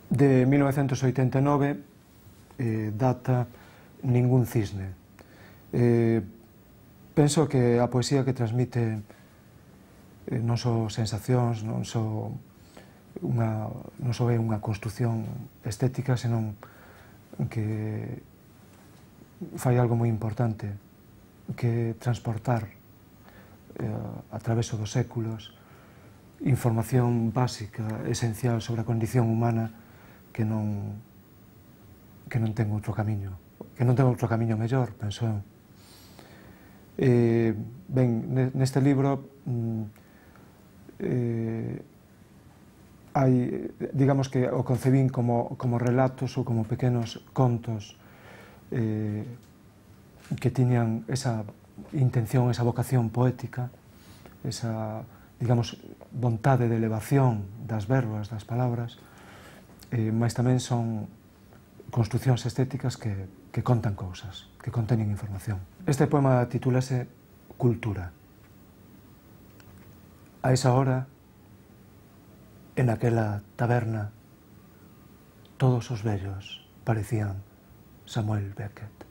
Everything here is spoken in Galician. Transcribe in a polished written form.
De 1989 data Ningún cisne. Penso que a poesía que transmite non só sensacións, non só é unha construción estética, senón que fai algo moi importante, que transportar a traveso dos séculos información básica, esencial sobre a condición humana que non ten outro camiño, mellor, penso eu. Ben, neste libro hai, digamos que o concebín como relatos ou como pequenos contos que tiñan esa intención, esa vocación poética, esa, digamos, vontade de elevación das verbas, das palabras, mas tamén son construcións estéticas que contan cousas, que conteñen información. Este poema titúlase Cultura. A esa hora, en aquela taberna, todos os vellos parecían Samuel Beckett.